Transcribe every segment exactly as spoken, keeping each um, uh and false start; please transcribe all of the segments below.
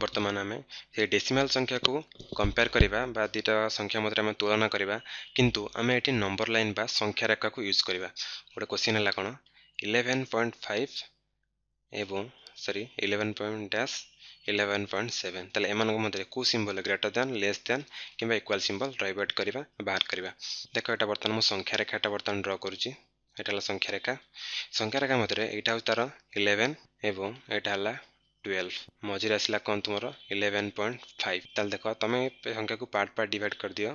ବର୍ତ୍ତମାନ ଆମେ ସେ ଡେସିମାଲ୍ ସଂଖ୍ୟାକୁ କମ୍ପେୟାର କରିବା ବା ଦୁଇଟା ସଂଖ୍ୟା ମଧ୍ୟରେ ଆମେ ତୁଳନା କରିବା କିନ୍ତୁ ଆମେ ଏଠି ନମ୍ବର ଲାଇନ୍ ବା ସଂଖ୍ୟା ରେଖାକୁ ୟୁଜ୍ କରିବା ଗୋଟେ କ୍ୱେଶ୍ଚିନ୍ ହେଲା କ'ଣ ଇଲେଭେନ୍ ପଏଣ୍ଟ ଫାଇଭ୍ ଏବଂ ସରି eleven point dash eleven point seven ତାହେଲେ ଏମାନଙ୍କ ମଧ୍ୟରେ କେଉଁ symbol greater than less than କିମ୍ବା ଇକ୍ୱାଲ୍ ସିମ୍ବଲ୍ ରହିବ ଏଠି କରିବା ବାହାର କରିବା ଦେଖ ଏଇଟା ବର୍ତ୍ତମାନ ମୁଁ ସଂଖ୍ୟା ରେଖାଟା ବର୍ତ୍ତମାନ ଡ୍ର କରୁଛି ଏଇଟା ହେଲା ସଂଖ୍ୟା ରେଖା ସଂଖ୍ୟା ରେଖା ମଧ୍ୟରେ ଏଇଟା ହେଉଛି ତାର ଇଲେଭେନ୍ ଏବଂ ଏଇଟା ହେଲା ଟୁଏଲ୍ଭ ମଝିରେ ଆସିଲା କ'ଣ ତୁମର ଇଲେଭେନ୍ ପଏଣ୍ଟ ଫାଇଭ୍ ତାହେଲେ ଦେଖ ତୁମେ ସଂଖ୍ୟାକୁ ପାର୍ଟ ପାର୍ଟ ଡିଭାଇଡ଼ କରିଦିଅ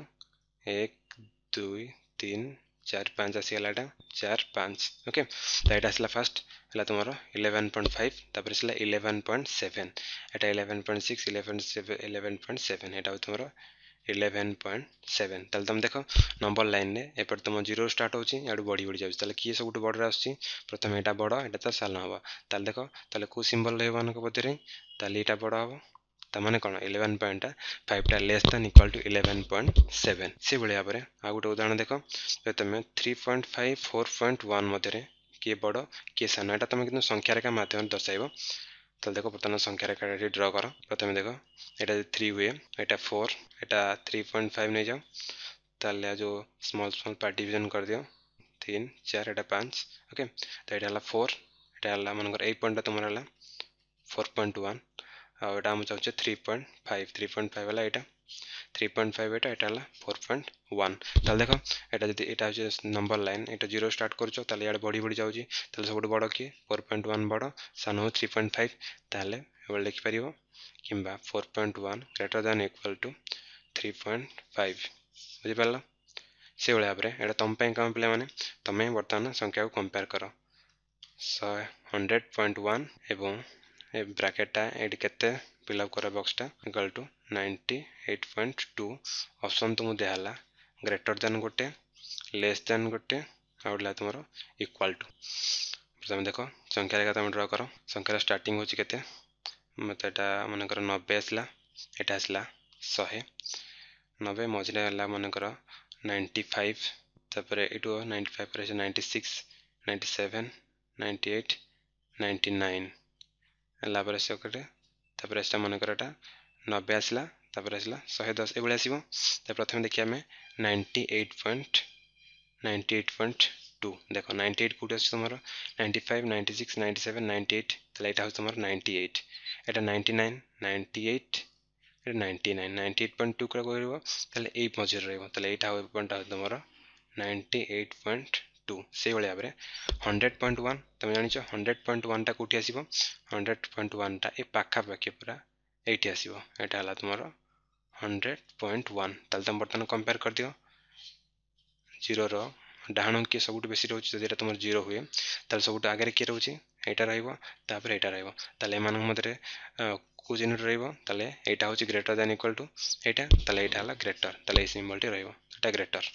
ଏକ ଦୁଇ ତିନି ଚାରି ପାଞ୍ଚ ଆସିଗଲା ଏଇଟା ଚାରି ପାଞ୍ଚ ଓକେ ତ ଏଇଟା ଆସିଲା ଫାର୍ଷ୍ଟ ହେଲା ତୁମର ଇଲେଭେନ୍ ପଏଣ୍ଟ ଫାଇଭ୍ ତାପରେ ଆସିଲା ଇଲେଭେନ୍ ପଏଣ୍ଟ ସେଭେନ୍ ଏଇଟା eleven point six eleven seven eleven point seven ଏଇଟା ହେଉଛି ତୁମର ଇଲେଭେନ୍ ପଏଣ୍ଟ ସେଭେନ୍ ତାହେଲେ ତୁମେ ଦେଖ ନମ୍ବର ଲାଇନ୍ରେ ଏପଟେ ତୁମ ଜିରୋ ଷ୍ଟାର୍ଟ ହେଉଛି ଇଆଡ଼ୁ ବଢ଼ି ବଢ଼ି ଯାଉଛି ତାହେଲେ କିଏ ସବୁଠୁ ବଡ଼ରେ ଆସୁଛି ପ୍ରଥମେ ଏଇଟା ବଡ଼ ଏଇଟା ତ ସାନ ହେବ ତାହେଲେ ଦେଖ ତାହେଲେ କେଉଁ ସିମ୍ବଲ୍ ରହିବ ମାନଙ୍କ ମଧ୍ୟରେ ତାହେଲେ ଏଇଟା ବଡ଼ ହେବ ତାମାନେ କ'ଣ eleven ପଏଣ୍ଟଟା ଫାଇଭଟା less than equal to eleven point seven ସେଭଳି ଭାବରେ ଆଉ ଗୋଟେ ଉଦାହରଣ ଦେଖ ଯଦି ତୁମେ three point five four point one ମଧ୍ୟରେ କିଏ ବଡ଼ କିଏ ସାନ ଏଇଟା ତୁମେ କିନ୍ତୁ ସଂଖ୍ୟା ରେଖା ମାଧ୍ୟମରେ ଦର୍ଶାଇବ ତାହେଲେ ଦେଖ ବର୍ତ୍ତମାନ ସଂଖ୍ୟା ରେଖାଟା ଏଠି ଡ୍ର କର ପ୍ରଥମେ ଦେଖ ଏଇଟା ଯଦି ଥ୍ରୀ ହୁଏ ଏଇଟା ଫୋର୍ ଏଇଟା ଥ୍ରୀ ପଏଣ୍ଟ ଫାଇଭ୍ ନେଇଯାଅ ତାହେଲେ ଯେଉଁ ସ୍ମଲ୍ ସ୍ମଲ୍ ପାର୍ଟ ଡିଭିଜନ୍ କରିଦିଅ ତିନି ଚାରି ଏଇଟା ପାଞ୍ଚ ଓକେ ତ ଏଇଟା ହେଲା ଫୋର୍ ଏଇଟା ହେଲା ମନେକର ଏଇ ପଏଣ୍ଟଟା ତୁମର ହେଲା ଫୋର୍ ପଏଣ୍ଟ ୱାନ୍ ଆଉ ଏଇଟା ଆମେ ଚାହୁଁଛେ three point five three point five ହେଲା ଏଇଟା ଥ୍ରୀ ପଏଣ୍ଟ ଫାଇଭ୍ ଏଇଟା ଏଇଟା ହେଲା ଫୋର୍ ପଏଣ୍ଟ ୱାନ୍ ତାହେଲେ ଦେଖ ଏଇଟା ଯଦି ଏଇଟା ହେଉଛି ନମ୍ବର ଲାଇନ୍ ଏଇଟା ଜିରୋ ଷ୍ଟାର୍ଟ କରୁଛ ତାହେଲେ ଇଆଡ଼େ ବଢ଼ି ବଢ଼ି ଯାଉଛି ତାହେଲେ ସବୁଠୁ ବଡ଼ କିଏ ଫୋର୍ ପଏଣ୍ଟ ୱାନ୍ ବଡ଼ ସାନ ହେଉଛି ଥ୍ରୀ ପଏଣ୍ଟ ଫାଇଭ୍ ତାହେଲେ ଏଭଳି ଲେଖିପାରିବ କିମ୍ବା four point one greater than equal to three point five ବୁଝିପାରିଲ ସେଇଭଳି ଭାବରେ ଏଇଟା ତୁମ ପାଇଁ କାମ ପିଲାମାନେ ତୁମେ ବର୍ତ୍ତମାନ ସଂଖ୍ୟାକୁ କମ୍ପେୟାର କର ଶହେ ହଣ୍ଡ୍ରେଡ଼ ପଏଣ୍ଟ ୱାନ୍ ଏବଂ ଏ ବ୍ରାକେଟଟା ଏଇଠି କେତେ ଫିଲ୍ଅପ୍ କର ବକ୍ସଟା equal to ninety eight point two option ତୁମକୁ ଦିଆହେଲା ଗ୍ରେଟର ଦେନ୍ ଗୋଟେ ଲେସ୍ ଦେନ୍ ଗୋଟେ ଆଉ ଗୋଟେ ହେଲା ତୁମର ଇକ୍ୱାଲ୍ ଟୁ ତମେ ଦେଖ ସଂଖ୍ୟା ରେଖା ତୁମେ ଡ୍ର କର ସଂଖ୍ୟାର ଷ୍ଟାର୍ଟିଂ ହେଉଛି କେତେ ମୋତେ ଏଇଟା ମନେକର ନବେ ଆସିଲା ଏଇଟା ଆସିଲା ଶହେ ନବେ ମଝିରେ ହେଲା ମନେକର ନାଇଣ୍ଟି ଫାଇଭ୍ ତାପରେ ଏଇଠୁ ନାଇଣ୍ଟି ଫାଇଭ୍ ପରେ ninety six ninety seven ninety eight ninety nine ହେଲା ପରେ ଆସିବ କେତେ ତାପରେ ଆସିଲା ମନେକର ଏଇଟା ନବେ ଆସିଲା ତାପରେ ଆସିଲା ଶହେ ଦଶ ଏଭଳି ଆସିବ ତ ପ୍ରଥମେ ଦେଖିବା ଆମେ ninety eight point ninety eight point two ଦେଖ ନାଇଣ୍ଟି ଏଇଟ୍ କେଉଁଠି ଅଛି ତୁମର ninety five ninety six ninety seven ninety eight ତାହେଲେ ଏଇଟା ହେଉଛି ତୁମର ନାଇଣ୍ଟି ଏଇଟ୍ ଏଇଟା ନାଇଣ୍ଟି ନାଇନ୍ ନାଇଣ୍ଟି ଏଇଟ୍ ଏଇଟା ninety nine ninety eight point two ରହିବ ତାହେଲେ ଏଇ ମଝିରେ ରହିବ ତାହେଲେ ଏଇଟା ପଏଣ୍ଟଟା ହେଉଛି ତୁମର ନାଇଣ୍ଟି ଏଇଟ୍ ପଏଣ୍ଟ ଟୁ ସେଇଭଳି ଭାବରେ ହଣ୍ଡ୍ରେଡ଼ ପଏଣ୍ଟ ୱାନ୍ ତୁମେ ଜାଣିଛ ହଣ୍ଡ୍ରେଡ଼ ପଏଣ୍ଟ ୱାନ୍ଟା କେଉଁଠି ଆସିବ ହଣ୍ଡ୍ରେଡ଼ ପଏଣ୍ଟ ୱାନ୍ଟା ଏ ପାଖାପାଖି ପୁରା ଏଇଠି ଆସିବ ଏଇଟା ହେଲା ତୁମର ହଣ୍ଡ୍ରେଡ଼ ପଏଣ୍ଟ ୱାନ୍ ତାହେଲେ ତୁମେ ବର୍ତ୍ତମାନ କମ୍ପେୟାର କରିଦିଅ ଜିରୋର ଡାହାଣ କିଏ ସବୁଠୁ ବେଶୀ ରହୁଛି ଯଦି ଏଇଟା ତୁମର ଜିରୋ ହୁଏ ତାହେଲେ ସବୁଠୁ ଆଗରେ କିଏ ରହୁଛି ଏଇଟା ରହିବ ତାପରେ ଏଇଟା ରହିବ ତାହେଲେ ଏମାନଙ୍କ ମଧ୍ୟରେ କେଉଁ ଚିହ୍ନଟି ରହିବ ତାହେଲେ ଏଇଟା ହେଉଛି ଗ୍ରେଟର ଦ୍ୟାନ୍ ଇକ୍ୱାଲ୍ ଟୁ ଏଇଟା ତାହେଲେ ଏଇଟା ହେଲା ଗ୍ରେଟର ତାହେଲେ ଏଇ ସିମ୍ବଲଟି ରହିବ ଏଇଟା ଗ୍ରେଟର